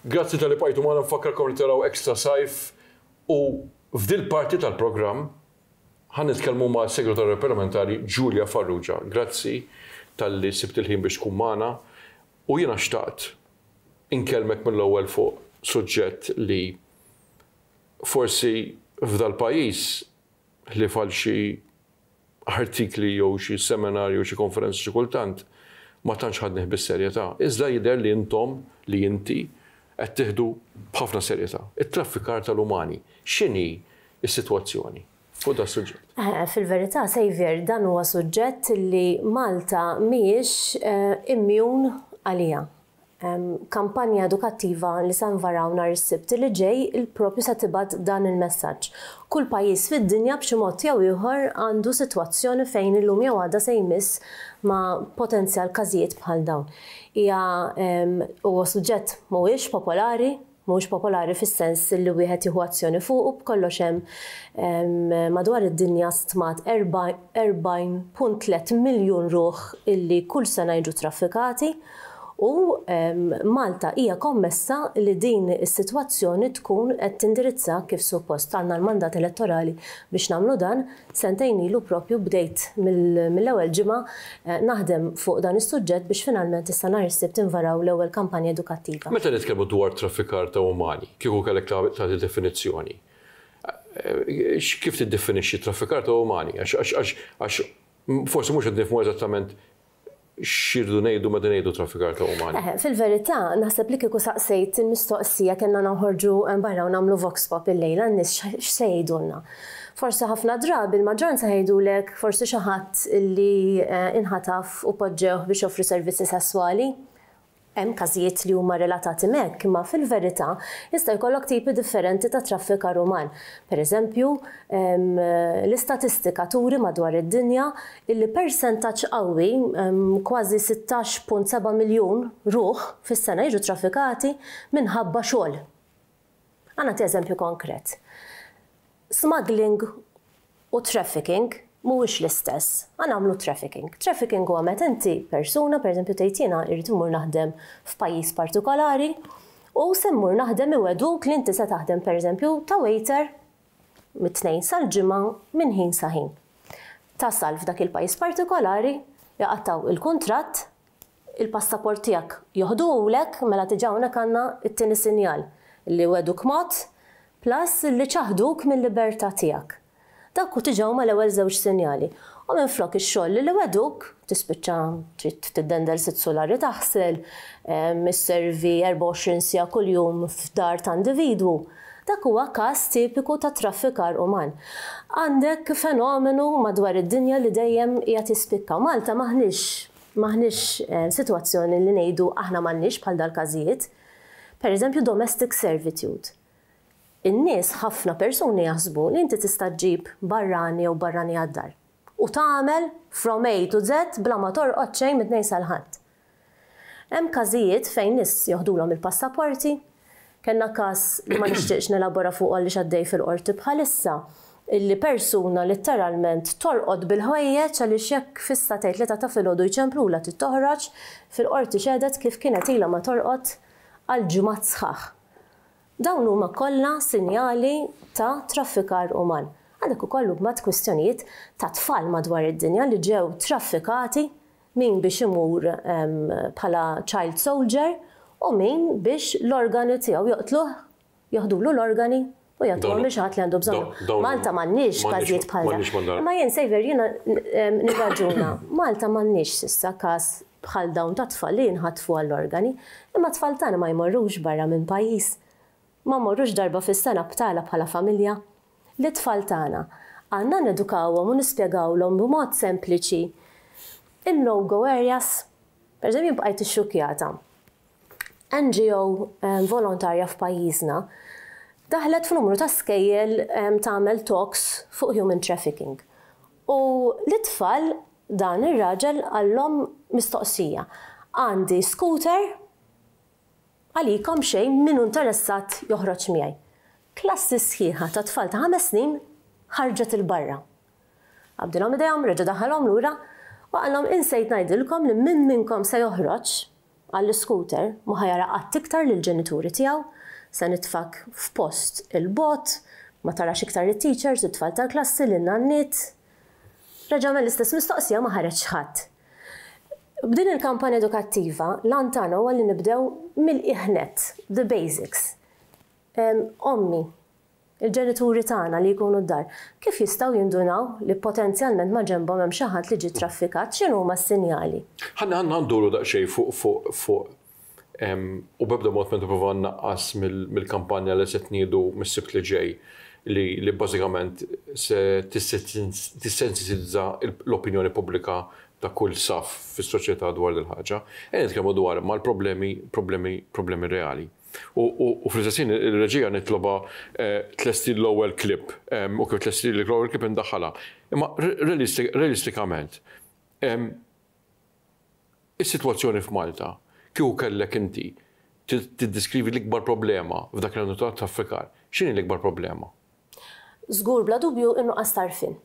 Grazzi talli bqajtu magħna. Nfakkarkom li taraw Extra Sajf u f'dil parti tal-programm ħa nitkellmu ma' Segretarju Parlamentari Julia Farrugia. Grazzi talli sibt il-ħin biex tkun magħna u jiena xtaqt inkellmek mill-ewwel fuq suġġett li forsi f'dal-pajjiż, ħlief għal xi artikli jew xi seminarji jew xi konferenzi xi kultant, ma tantx ħadnih bis-serjetà. Iżda jidher li intom, li inti, qed tieħdu b'ħafna serjetà. It-traffikar tal-umani. X'inhi s-sitwazzjoni fuq dan suġġett? Fil-verità, Saviour, dan huwa suġġett li Malta mhijiex immune għalija. Kampanja edukattiva li se nvaraw nhar is-Sibt li ġej il-propju se tibgħat dan il-messaġġ. Kull pajjiż fid-dinja b'xi mod jew ieħor għandu sitwazzjoni fejn illum jew għada se jmiss ma' potenzjal każijiet bħal dawn. Hija huwa suġġett mhuwiex popolari, mhuwiex popolari fis-sens li wieħed jieħu azzjoni fuqu. B'kollox hemm madwar id-dinja stmat 40.3 miljun ruħ illi kull sena jiġu traffikati u Malta hija kommessa li din is-sitwazzjoni tkun qed tindirizza kif suppost. Għandna l-mandat elettorali biex nagħmlu dan. Sentejn ilu propju bdejt mill-ewwel ġimgħa naħdem fuq dan is-suġġett biex finalment issa nhar is-Sibt invaraw l-ewwel kampanja edukattiva. Meta nitkellmu dwar traffikar ta' umani, kieku kellek tagħti definizzjoni, kif tiddefinixxi traffikar ta' umani? Għax forsi mhux qed nifhmu eżattament x'irridu ngħidu meta ngħidu traffikar ta' umani. Fil-verità, naħseb li kieku saqsejt il-mistoqsija, kellna noħorġu barra u nagħmlu vox pop illejla, n-nies x'se jgħidulna? Forsi ħafna drabi l-maġġoranza jgħidulek forsi xi ħadd li inħataf u poġġewh biex joffri servizzi sesswali. Hemm każijiet li huma relatati m'hekk, imma fil-verità jista' jkollok tipi differenti ta' traffikar uman. Per eżempju, l-istatistika turi madwar id-dinja illi persentaġġ qawwi, kważi 16.7 miljun ruħ fis-sena jiġu traffikati minħabba xogħol. Ħa nagħti eżempju konkret. Smuggling u trafficking mhuwiex l-istess. Ħa nagħmlu trafficking. Trafficking huwa meta inti persuna, pereżempju, tgħid jiena rrid immur naħdem f'pajjiż partikolari u se mmur naħdem, iwegħduk li inti se taħdem, pereżempju, ta' waiter mit-Tnejn sal-Ġimgħa minn ħin sa ħin. Tasal f'dak il-pajjiż partikolari, jaqattaw il-kuntratt, il-passaport tiegħek joħduhulek, mela diġà hawnhekk għandna t-tieni sinjal li wegħduk mod plus li ċaħduk mil-libertà tiegħek. Dak hu diġà huma l-ewwel żewġ sinjali. U minflok ix-xogħol li wegħduk, tispiċċa trid tiddendel sitt sulari taħsel, isservi 24 siegħa kuljum f'dar ta' individwu. Dak huwa każ tipiku ta' traffikar uman. Għandek fenomenu madwar id-dinja li dejjem qiegħed jispikka. Malta m'aħniex sitwazzjoni li ngħidu aħna m'għandniex bħal dal-każijiet. Per eżempju, domestic servitude. In-nies, ħafna persuni jaħsbu li inti tista' ġġib barrani jew barrani għad-dar u tagħmel from A to Z bla ma torqod xejn mit-Tnejn sal-Ħadd. Hemm każijiet fejn nies joħdulhom il-passaporti. Kellna każ li ma nixtieqx nelabora fuqu għaliex għaddej fil-qorti bħalissa, illi persuna litteralment torqod bil-ħwejjeġ għaliex jekk fis-sagħtejn tlieta ta' filgħodu jċemplulha trid toħroġ, fil-qorti xehdet kif kienet ilha ma torqod għal ġimgħat sħaħ. Dawn huma kollha sinjali ta' traffikar uman. Għandek ukoll imbagħad kwistjonijiet ta' tfal madwar id-dinja li ġew traffikati, min biex imur bħala child soldier u min biex l-organi tiegħu joqtluh, joħdulu l-organi u jagħtuhom lil xi ħadd li għandu bżonnhom. Malta m'għandniex każijiet bħal dawn. Imma jien, Saviour, jiena nirraġuna. Malta m'għandniex s'issa każ bħal dawn ta' tfal li jinħatfu għall-organi, imma t-tfal tagħna ma jmorrux barra minn pajjiż. Ma mmorrux darba fis-sena btala bħala familja. Lit-tfal tagħna għandna nedukawhom u nispjegawlhom b'mod sempliċi in-no-go areas. Per eżempju, jien bqajt ixxukkjata. NGO volontarja f'pajjiżna daħlet f'numru ta' skejjel tagħmel talks fuq human trafficking. U lit-tfal dan ir-raġel qallhom mistoqsija. "Għandi scooter għalikom xejn, min hu interessat joħroġ miegħi." Klassi sħiħa ta' tfal ta' 5 snin ħarġet 'il barra. Qabdilhom idejhom, reġa' daħħalhom lura u qalhom, "Insejt ngħidilkom li min minnkom se joħroġ." għall-iscooter, mhu ħa jara qatt iktar lill-ġenituri tiegħu, se nitfgħek f'post 'il bogħod, ma tarax iktar lit-teachers, it-tfal tal-klassi, lin-nanniet. Reġa' għamel l-istess mistoqsija ma ħareġ ħadd. B'din il-kampanja edukattiva, l-għan tagħna huwa li nibdew mill-qiegħ nett, the basics. Ommi, il-ġenituri tagħna li jkunu d-dar, kif jistgħu jindunaw li potenzjalment ma' ġenbhom hemm xi ħadd li ġie traffikat, x'inhuma s-sinjali? Ħa ħa nduru daqsxejn fuq fuq u b'ebda mod ma nipprova nnaqqas mill-kampanja li se tniedu mis-Sibt li ġej li bażikament se tissensitizza l-opinjoni pubblika ta' kull saf fis-soċjetà dwar dil-ħaġa. Ejja nitkellmu dwar mal-problemi problemi problemi reali. U fl-istess ħin il-reġija nitloba tlesti l-ewwel clip u kif tlesti l-ewwel clip indaħħalha. Imma realistikament, is-sitwazzjoni f'Malta, kieku kellek inti tiddeskrivi l-ikbar problema f'dak li għandu ta' traffikar, x'inhi l-ikbar problema? Żgur bla dubju in-nuqqas t'għarfien.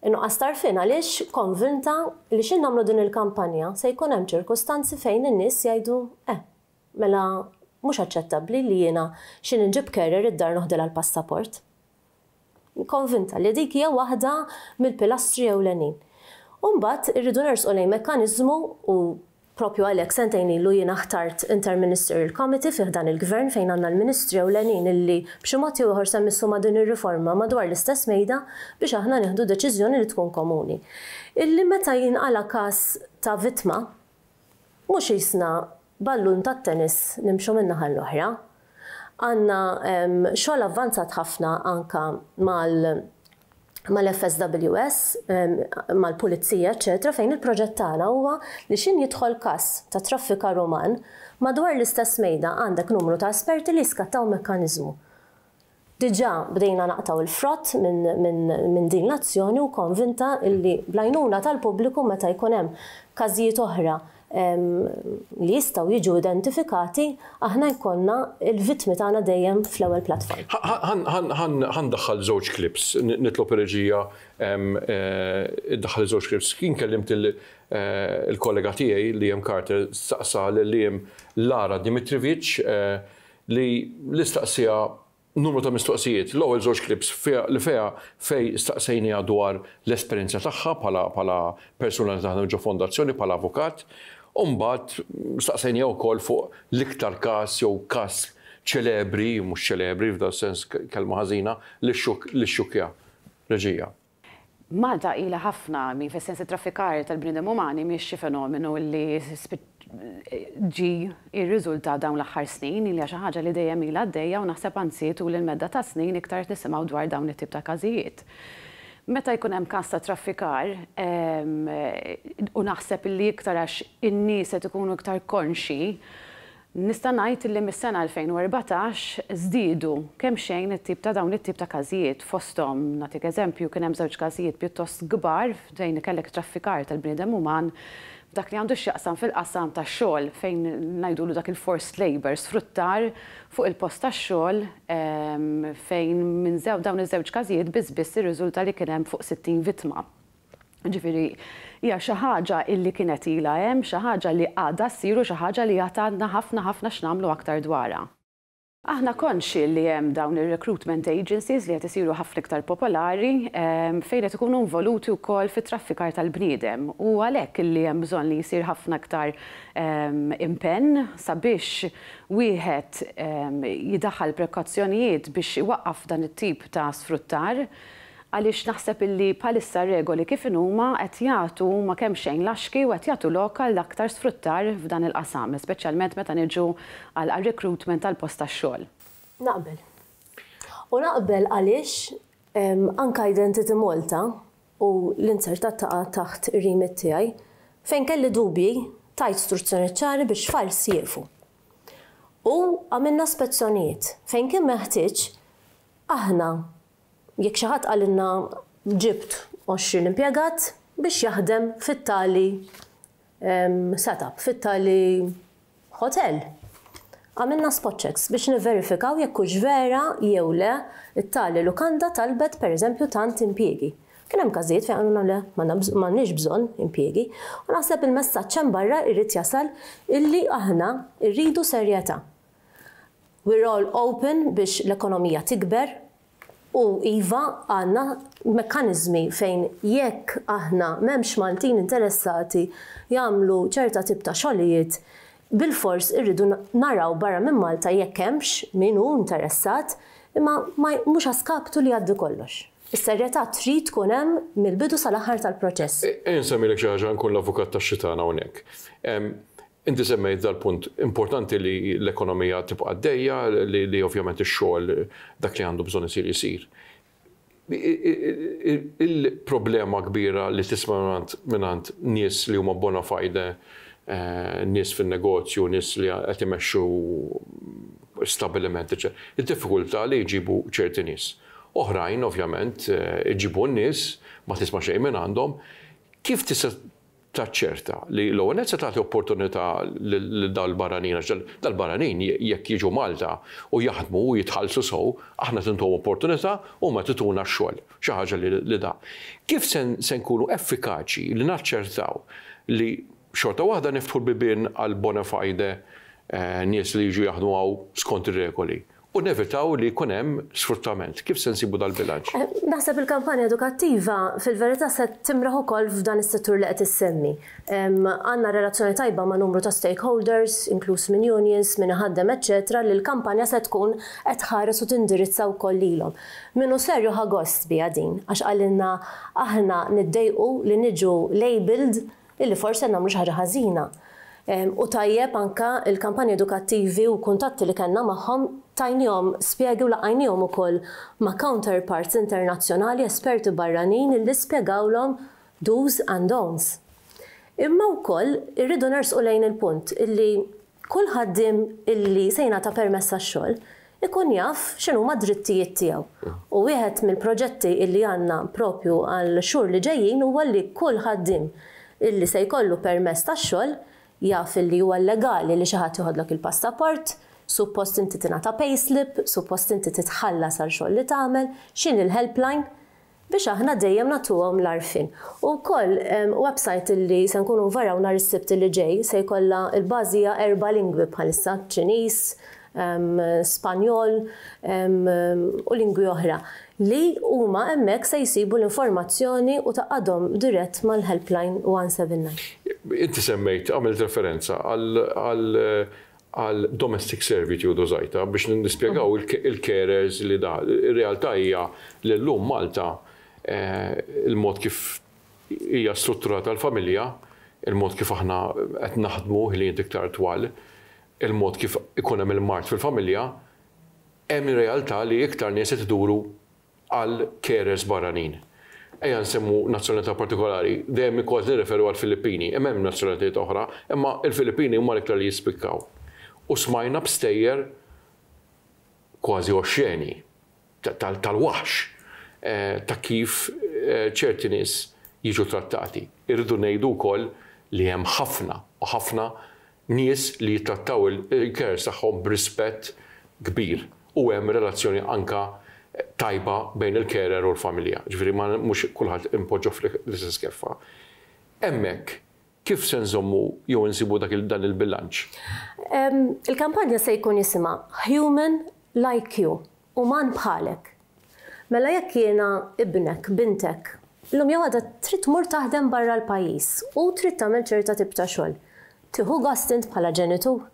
In-nuqqas t'għarfien għaliex konvinta li x'in nagħmlu din il-kampanja se jkun hemm ċirkustanzi fejn in-nies jgħidu eh, mela mhux aċċettabbli li jiena x'in inġib carer id-dar noħdilha l-passaport. Konvinta li dik hija waħda mill-pilastri ewlenin. U mbagħad irridu nersqu lejn mekkaniżmu u propju għalhekk sentejn ilu jiena ħtart Interministerial Committee fih dan il-gvern fejn għandna l-ministri ewlenin illi b'xi mod jew ieħor se jmissu ma' din ir-riforma madwar l-istess mejda biex aħna nieħdu deċiżjoni li tkun komuni. Illi meta jinqala każ ta' vittma, mhux qisna ballun tat-tennis nimxu minn naħa l-oħra. Għandna xogħol avvanzat ħafna anka mal mal-FSWS, mal-pulizija, eċċetera, fejn il-proġett tagħna huwa li x'in jidħol każ ta' traffikar uman, madwar l-istess mejda għandek numru ta' esperti li jiskattaw mekkaniżmu. Diġà bdejna naqtgħu l-frott minn din l-azzjoni u konvinta li bl-għajnuna tal-pubbliku meta jkun hemm każijiet oħra li jistgħu jiġu identifikati, aħna jkollna l-vittmi tagħna dejjem fl-ewwel platform. Ħa ndaħħal żewġ clips, nitlob ir-reġija iddaħħal żewġ clips. Kien kellimt il-kollega tiegħi Liam Carter staqsa lil Liam Lara Dimitrijevic li l-istaqsija numru ta' mistoqsijiet. L-ewwel żewġ clips li fiha fej staqsejniha dwar l-esperjenza tagħha bħala persuna li taħdem ġo fondazzjoni bħala avukat, u mbagħad staqsejniha wkoll fuq l-iktar każ jew każ ċelebri, mhux ċelebri f'dan sens kelma ħażina, li xxukkja. Reġija. Malta ilha ħafna, mi fis-sens traffikar tal-bniedem umani mhix xi fenomenu li ġi irriżulta dawn l-aħħar snin, hija xi ħaġa li dejjem ilha għaddejja u naħseb anzi tul il-medda ta' snin iktar nisimgħu dwar dawn it-tip ta' każijiet. Meta jkun hemm każ ta' traffikar u naħseb li iktar għax in-nies qed ikunu iktar konxi, nista' ngħid li mis-sena 2014 żdiedu kemm xejn it-tip ta' dawn it-tip ta' każijiet. Fosthom, nagħtik eżempju, kien hemm żewġ każijiet pjuttost kbar fejn kellek traffikar tal-bniedem uman f'dak li għandu x'jaqsam fil-qasam tax-xogħol fejn ngħidulu dak il-forced labour, sfruttar fuq il-post tax-xogħol fejn minn dawn iż-żewġ każijiet biss biss irriżulta li kien hemm fuq 60 vittma. Ġifieri, hija xi ħaġa illi kienet ilha hemm, xi ħaġa li għadha ssir u xi ħaġa li għad għandna ħafna ħafna x'nagħmlu aktar dwarha. Aħna konxi li hemm dawn ir-recruitment agencies li qed isiru ħafna iktar popolari fejn qed ikunu involuti wkoll fit-traffikar tal-bniedem u għalhekk illi hemm bżonn li jsir ħafna iktar impenn sabiex wieħed jidaħħal prekawzjonijiet biex iwaqqaf dan it-tip ta' sfruttar għaliex naħseb illi bħalissa regoli kif inhuma qed jagħtu huma kemm xejn laxki u qed jagħtu lok għal aktar sfruttar f'dan il-qasam, speċjalment meta niġu għal recruitment tal-post tax-xogħol. Naqbel. U naqbel għaliex anka Identity Malta u l-inzertat taqa' taħt ir-remit tiegħi, fejn kelli dubji tajt istruzzjoni ċari biex files jieqfu. U għamilna spezzjonijiet fejn kien meħtieġ aħna jekk xi ħadd qalilna ġibt 20 impjegat biex jaħdem fit-tali setup, fit-tali hotel. Għamilna spot checks biex niverifikaw jekk hux vera jew le it-tali lukanda talbet pereżempju tant impjiegi. Kien hemm każijiet fejn qalulna le, m'għandniex bżonn impjiegi. U naħseb il-messaġġ hemm barra jrid jasal illi aħna rridu serjetà. We're all open biex l-ekonomija tikber u iva għandna mekkaniżmi fejn jekk aħna m'hemmx Maltin interessati jagħmlu ċerta tip ta' xogħlijiet bilfors irridu naraw barra minn Malta jekk hemmx min hu interessat imma mhux a skaptu li jgħaddi kollox. Is-serjetà trid tkun hemm mill-bidu sal-aħħar tal-proċess. Ejja nsemmilek xi ħaġa nkun l-avukat tax-xitan hawnhekk. Inti semmejt dal-punt importanti li l-ekonomija tibqa' għaddejja, li ovvjament ix-xogħol dak li għandu bżonn isir isir. Il-problema kbira li tisma' mingħand nies li huma bona fide, nies fin-negozju, nies li qed imexxu stabbiliment, eċċetera, id-diffikultà li jġibu ċerti nies. Oħrajn, ovvjament, iġibu n-nies, ma tisma' xejn mingħandhom. Kif tista' taċċerta li l-ewwel nett se tagħti opportunità lil dal-barranin għax dal-barranin jekk jiġu Malta u jaħdmu u jitħallsu sew, aħna qed intuhom opportunità u huma qed ituna x-xogħol, xi ħaġa li da. Kif se nkunu effikaċi li naċċertaw li xorta waħda niftħu l-bibien għal bona fide nies li jiġu jaħdmu hawn skont ir-regoli? U nevitaw li jkun hemm sfruttament. Kif se nsibu dal-bilanċ? Naħseb il-kampanja edukattiva fil-verità se timraħ ukoll f'dan is-settur li qed issemmi. Għandna relazzjoni tajba ma' numru ta' stakeholders, inkluż minn unions, min iħaddem eċċetera li l-kampanja se tkun qed tħares u tindirizza wkoll lilhom. Min hu serju ħa gost biha din għax qalilna aħna niddejqu li niġu labelled illi forsi qed nagħmlu xi ħaġa ħażina. U tajjeb anke l-kampanji edukattivi u kuntatti li kellna magħhom tajniehom spjegi u laqqajniehom ukoll ma' counterparts internazzjonali, esperti barranin illi spjegawlhom do's and don'ts. Imma wkoll irridu nersqu lejn il-punt illi kull ħaddiem illi se jingħata permess għax-xogħol ikun jaf x'inhuma d-drittijiet tiegħu. U wieħed mill-proġetti illi għandna propju għall-xhur li ġejjin huwa li kull ħaddiem illi se jkollu permess tax-xogħol jaf illi huwa llegali li xi ħadd joħodlok il-passaport, suppost inti tingħata payslip, suppost inti titħallas għal xogħol li tagħmel, x'inhi l-helpline, biex aħna dejjem nagħtuhom l-għarfien. U wkoll website li se nkunu nvaraw nhar is-Sibt li ġej se jkollha l-bażi hija erba' lingwi bħalissa, Ċiniż, Spanjol u lingwi oħra li huma hemmhekk se jsibu l-informazzjoni u tgħaqqadhom dirett mal-helpline 179. Inti semmejt, għamilt referenza għal għal domestic servitude użajtha biex nispjegaw il-carers li da. Ir-realtà hija li llum Malta il-mod kif hija strutturata l-familja, il-mod kif aħna qed naħdmu ħiliet iktar twal, il-mod kif ikun hemm il-mard fil-familja, hemm realtà li iktar nies qed iduru għal carers barranin. Ejja nsemmu nazzjonalità partikolari, dejjem kważi nirreferu għall-Filippini, imma hemm nazzjonalitajiet oħra, imma l-Filippini huma l-iktar li jispikkaw. U smajna b'stejjer kważi oxxeni, tal-waħx, ta' kif ċerti nies jiġu trattati. Irridu ngħidu wkoll li hemm ħafna u ħafna nies li jittrattaw il-carers tagħhom b'rispett kbir u hemm relazzjoni anke tajba bejn il-carer u l-familja. Ġifieri ma mhux kulħadd inpoġġuh fl-istess keffa. Hemmhekk kif se nżommu jew insibu dak dan il-bilanċ? Il-kampanja se jkun jisimha Human Like You, Uman bħalek. Mela jekk jiena ibnek, bintek, illum jew għada trid tmur taħdem barra l-pajjiż u trid tagħmel ċerta tip ta' xogħol, tieħu gost int bħala ġenitur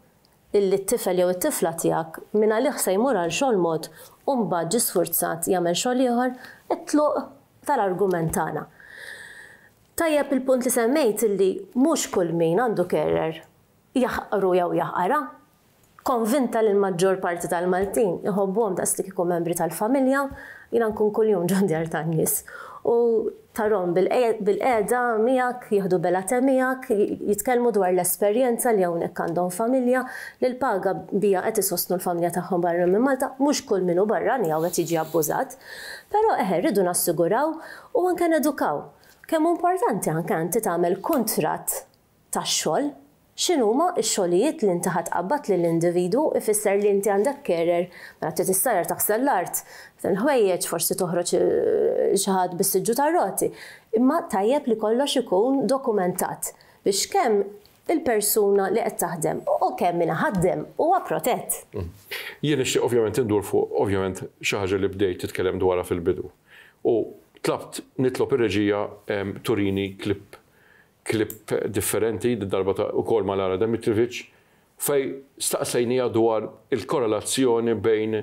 illi t-tifel jew it-tifla tiegħek mingħalih se jmur għal xogħol mod u mbagħad ġie sfurzat jagħmel xogħol ieħor? It-tluq tal-argument tagħna. Tajjeb il-punt li semmejt illi mhux kull min għandu carer jaħqru jew jaħqarha. Konvinta li l-maġġor parti tal-Maltin iħobbuhom daqs li kieku membri tal-familja, jiena nkun kuljum ġo djar tan-nies u tarhom bilqiegħda miegħek, jieħdu bela te miegħek, jitkellmu dwar l-esperjenza li hawnhekk għandhom familja, li l-paga biha qed isostnu l-familja tagħhom barra minn Malta, mhux kull min hu barrani hawn qed jiġi abbużat. Però eħe rridu nassiguraw u anke nedukaw. Kemm hu importanti anke inti tagħmel kuntratt tax-xogħol. X'inhuma x-xogħlijiet li inti ħa tqabbad lill-individwu ifisser li inti għandek carer, mela trid issajjar taħsel l-art, il-ħwejjeġ, forsi toħroġ xi ħadd bis-siġġu tar-roti. Imma tajjeb li kollox ikun dokumentat biex kemm il-persuna li qed taħdem u kemm min iħaddem huwa protett. Jien nixtieq ovvjament indur fuq ovvjament xi ħaġa li bdejt titkellem dwarha fil-bidu. U tlabt nitlob ir-reġija turini clip clip differenti, darba ta' ukoll ma' Lara Demitrovic, fejn staqsejniha dwar il-korrelazzjoni bejn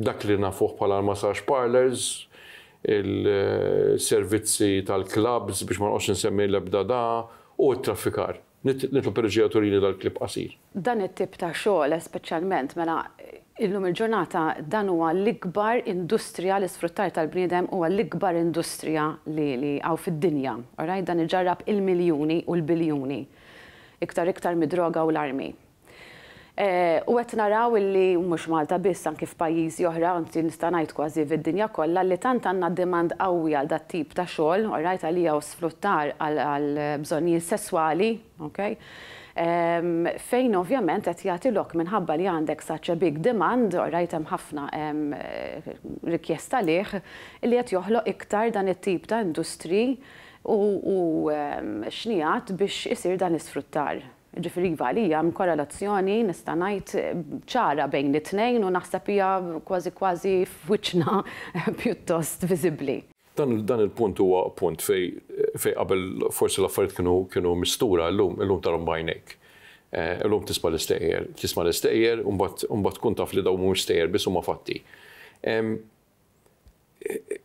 dak li nafuh bħala l-massage parlours, il-servizzi tal-clubs biex ma noqgħodx insemmi l-ebda da, u t-traffikar. Nitlob ir-reġija turini dal-clip qasir. Dan it-tip ta' xogħol speċjalment mela illum il-ġurnata dan huwa l-ikbar industrija, l-isfruttar tal-bniedem huwa l-ikbar industrija li li hawn fid-dinja, alright? Dan iġarrab il-miljuni u l-biljuni. Iktar iktar mid-droga u l-armi. U qed naraw illi mhux Malta biss anki f'pajjiżi oħra, anzi nista' ngħid kważi fid-dinja kollha, li tant għandna demand qawwi għal dat-tip ta' xogħol, alright, għalija hu sfruttar għal bżonnijiet sesswali, okay, fejn ovvjament qed jagħti lok minħabba li għandek such a big demand, alright, hemm ħafna rikjesta għalih, illi qed joħloq iktar dan it-tip ta' industri u xnigħat biex isir dan l-isfruttar. Jiġifieri iva, għalija hemm korrelazzjoni nista' ngħid ċara bejn it-tnejn u naħseb hija kważi kważi f'wiċċna pjuttost viżibbli. Dan dan il-punt huwa punt fej fej qabel forsi l-affarijiet kienu kienu mistura llum illum tarhom b'għajnejk. Illum tisma' l-istejjer, tisma' l-istejjer u mbagħad u mbagħad tkun taf li dawn mhumiex stejjer biss huma fatti.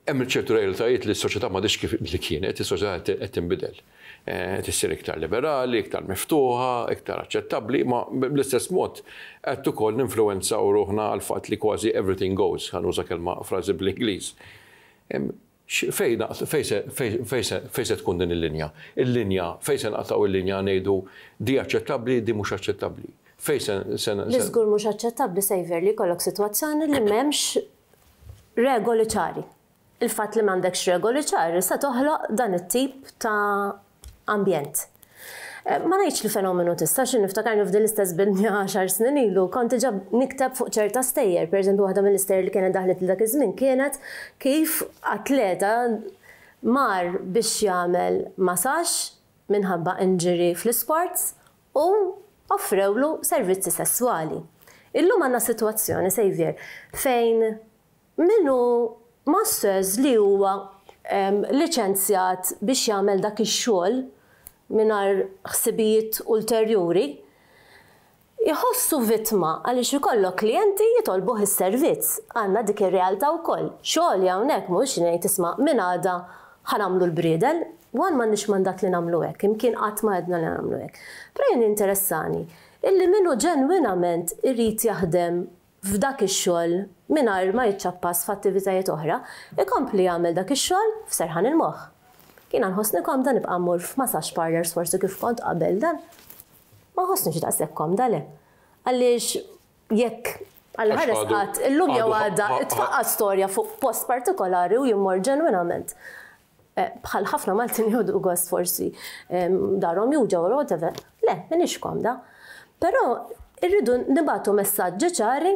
Hemm ċertu realtajiet li s-soċjetà m'għadhiex kif li kienet, is-soċjetà qed tinbidel. Qed issir iktar liberali, iktar miftuħa, iktar aċċettabbli, ma bl-istess mod qed ukoll ninfluwenzaw ruħna għall-fatt li kważi everything goes, ħa nuża kelma frażi bl-Ingliż. Fejn fejn se tkun din il-linja? Il-linja, fejn se nqatgħu il-linja ngħidu di aċċettabbli, di mhux aċċettabbli? Fejn se Li żgur mhux aċċettabbli, Saviour, li jkollok sitwazzjoni li m'hemmx regoli ċari. Il-fatt li m'għandekx regoli ċari se toħloq dan it-tip ta' ambjent. Ma ngħidx li fenomenu tista' xi niftakarni f'din l-istess binja għaxar snin ilu kont diġà nikteb fuq ċerta stejjer, pereżempju waħda mill-istejjer li kienet daħlet li dak iż-żmien kienet kif atleta mar biex jagħmel massage minħabba injury fl-isports u offrewlu servizzi sesswali. Illum għandna sitwazzjoni, Saviour, fejn min hu masseuse li huwa liċenzjat biex jagħmel dak ix-xogħol mingħajr ħsibijiet ulterjuri, iħossu vittma għaliex ikollok klijenti jitolbuh is-servizz. Għandna dik ir-realtà wkoll. Xogħli hawnhekk mhuwiex li ngħid isma' minn għada ħa nagħmlu l-briedel. One m'għandniex mandat li nagħmlu hekk, imkien qatt ma għedna li nagħmlu hekk. Però jien jinteressani illi min hu ġenwinament irid jaħdem f'dak ix-xogħol mingħajr ma jiċċappas f'attivitajiet oħra, ikompli jagħmel dak ix-xogħol f'serħan il-moħħ. Jiena nħossni komda nibqa' mmur f'massage parlours forsi kif kont qabel dan. Ma nħossnix daqshekk komda le. Għaliex jekk Alla ħares qatt illum jew għada tfaqqa' storja fuq post partikolari u jien mmur ġenwinament bħal ħafna Maltin jieħdu gost forsi darhom juġgħu or whatever. Le, m'iniex komda. Però irridu nibagħtu messaġġi ċari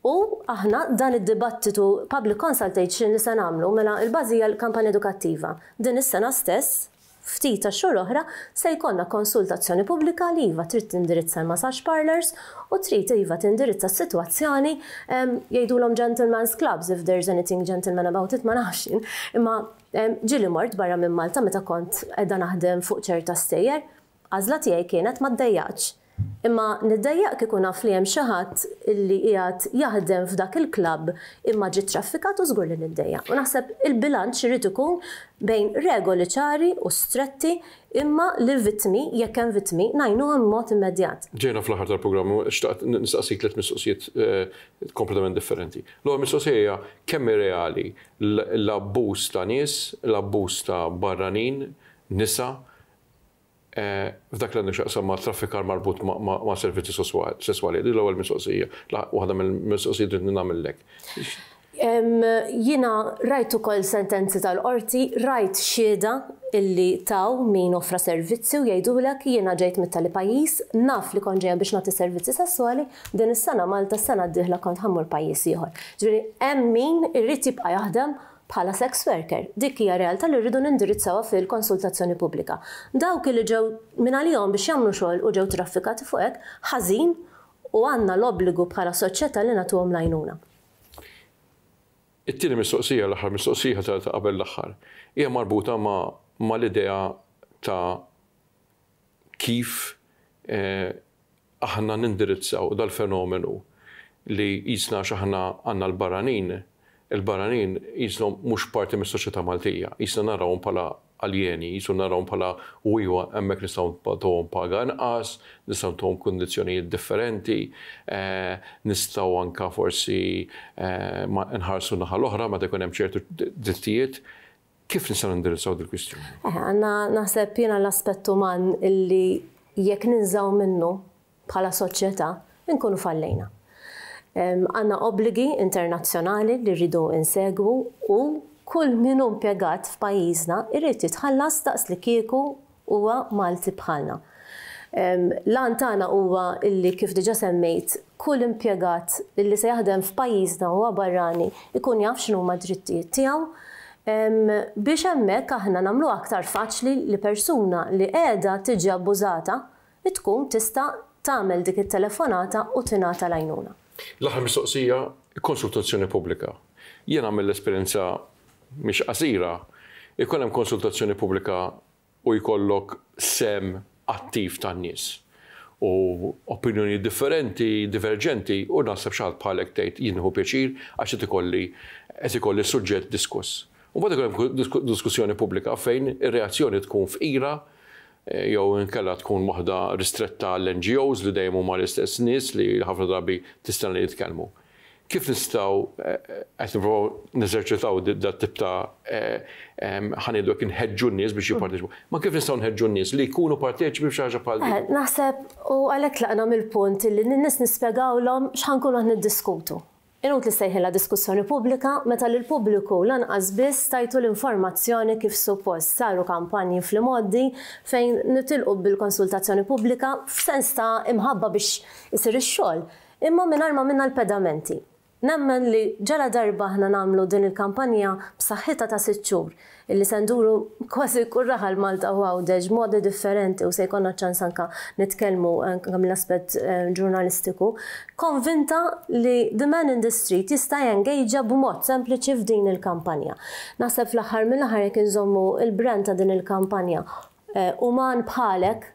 u aħna dan id-dibattitu public consultation li se nagħmlu, mela l-bażi hija l-kampanja edukattiva. Din is-sena stess, ftit tax-xhur oħra, se jkollna konsultazzjoni pubblika li iva trid tindirizza l-massage parlours u trid iva tindirizza s-sitwazzjoni jgħidulhom gentleman's clubs if there's anything gentleman about it ma nafx jien. Imma ġieli mort barra minn Malta meta kont qiegħda naħdem fuq ċerta stejjer, għażla tiegħi kienet ma ddejjaqtx. Imma niddejjaq kieku naf li hemm xi ħadd li qiegħed jaħdem f'dak il-klabb imma ġie ttraffikat u żgur li niddejjaq. U naħseb il-bilanċ irid ikun bejn regoli ċari u stretti imma li l-vittmi, jekk hemm vittmi, ngħinuhom b'mod immedjat. Ġejna fl-aħħar tal-programm u xtaqt nistaqsik tliet mistoqsijiet kompletament differenti. L-ewwel mistoqsija hija kemm hi reali l-abbuż ta' nies, l-abbuż ta' barranin, nisa, F'dak li għandu x'jaqsam ma' traffikar marbut ma' servizzi sesswali. Din l-ewwel mistoqsija, waħda mill-mistoqsijiet li nagħmillek. Jiena rajt ukoll sentenzi tal-qorti, rajt xhieda illi taw min offra servizzi u jgħidulek jiena ġejt mit-tali pajjiż, naf li kont ġejja biex nagħti servizzi sesswali, din is-sena Malta, s-sena d-dieħla kont ħa mmur pajjiż ieħor. Ġifieri hemm min irid jibqa' jaħdem bħala sex worker. Dik hija realtà li rridu nindirizzawha fil-konsultazzjoni pubblika. Dawk illi ġew mingħalihom biex jagħmlu xogħol u ġew traffikati fuq hekk, ħażin u għandna l-obbligu bħala soċjetà li nagħtuhom l-għajnuna. It-tieni mistoqsija, l-aħħar mistoqsija ta' qabel l-aħħar, hija marbuta ma' l-idea ta' kif aħna nindirizzaw dal-fenomenu li qisna għax aħna għandna l-barranin, il-barranin qishom mhux parti mis-soċjetà Maltija, qisna narawhom bħala aljeni, qisu narawhom bħala u iva hemmhekk nistgħu nagħtuhom paga inqas, nistgħu ntuhom kundizzjonijiet differenti, nistgħu anke forsi nħarsu n-naħa l-oħra meta jkun hemm ċertu drittijiet. Kif nistgħu nindirizzaw dil-kwistjoni? Għandna naħseb jiena l-aspett uman illi jekk ninżgħu minnu bħala soċjetà, inkunu fallejna. Għandna obbligi internazzjonali li rridu insegwu u kull min hu impjegat f'pajjiżna jrid jitħallas daqs li kieku huwa Malti bħalna. L-għan tagħna huwa li kif diġà semmejt, kull impjegat li se jaħdem f'pajjiżna huwa barrani jkun jaf x'inhuma d-drittijiet tiegħu biex hemmhekk aħna nagħmluha aktar faċli li persuna li qiegħda tiġi abbużata Li tkun tista' tagħmel dik it-telefonata u tingħata l-għajnuna. L-aħħar mistoqsija, konsultazzjoni pubblika. Jiena mill-esperjenza mhix qasira, ikun hemm konsultazzjoni pubblika u jkollok sehem attiv tan-nies u opinjonijiet differenti, diverġenti u naħseb xi ħadd bħalek tgħid jien nieħu pjaċir għax qed ikolli qed ikolli suġġett diskuss. U mbagħad ikun hemm diskussjoni pubblika fejn ir-reazzjoni tkun fqira jew inkella tkun waħda ristretta għall-NGOs li dejjem huma l-istess nies li ħafna drabi tistenna li jitkellmu. Kif nistgħu qed nippruvaw neżerċitaw dat-tip ta' ħa ngħidu hekk inħeġġu n-nies biex jipparteċipaw. Ma kif nistgħu nħeġġu n-nies li jkunu parteċipi f'xi ħaġa bħal din? Naħseb u għalhekk tlaqna mill-punt li lin-nies nispjegawlhom x'ħa nkunu qed niddiskutu. Inutli ssejħilha diskussjoni pubblika meta lill-pubbliku lanqas biss tajtu l-informazzjoni kif suppost. Saru kampanji fl-imgħoddi fejn nitilqu bil-konsultazzjoni pubblika f'sens ta' imħabba biex isir ix-xogħol, imma mingħajr ma għamilna l-pedamenti. Nemmen li ġaladarba aħna nagħmlu din il-kampanja b'saħħitha ta' sitt xhur, illi se nduru kważi kull raħal Malta u Għawdex b'modi differenti u se jkollna ċ-ċans anke nitkellmu anke mill-aspett ġurnalistiku, konvinta li the man in the street jista' jengaġa b'mod sempliċi f'din il-kampanja. Naħseb fl-aħħar mill-aħħar jekk inżommu l-brand ta' din il-kampanja uman bħalek,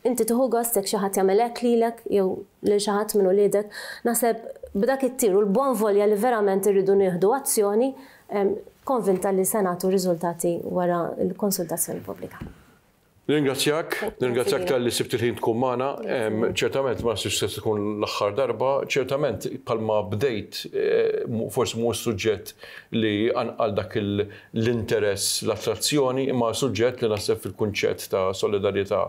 Inti tieħu gost jekk xi ħadd jagħmel hekk lilek jew lil xi ħadd minn uliedek. Naħseb b'dak it-tir u l-buon voglia li verament irridu nieħdu azzjoni, konvinta li se nagħtu riżultati wara l-konsultazzjoni pubblika. Nirringrazzjak, nirringrazzjak talli sibt il-ħin tkun magħna. Ċertament ma naħsibx se tkun l-aħħar darba, ċertament bħalma bdejt forsi mhuwiex suġġett li jqanqal dak l-interess, l-attrazzjoni, imma suġġett li naħseb fil-kunċett ta' solidarjetà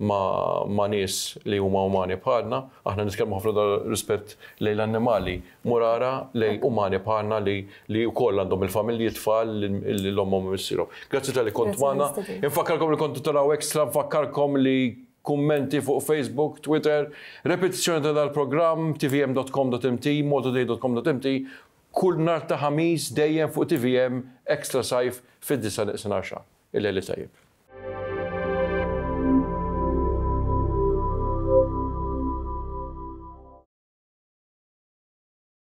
ma' nies li huma umani bħalna. Aħna nitkellmu ħafna dwar rispett lejn l-annimali, mur ara lejn umani bħalna li li wkoll għandhom il-familji, t-tfal, lil ommhom u missierhom. Grazzi talli kont magħna. Infakkarkom li kontu taraw Extra, nfakkarkom li kummenti fuq Facebook, Twitter, repetizzjoni ta' dal-programm, tvm.com.mt, maltatoday.com.mt, Kull nhar ta' Ħamis dejjem fuq tvm Extra Sajf fid-disgħa neqsin għaxra. Il-lejl it-tajjeb.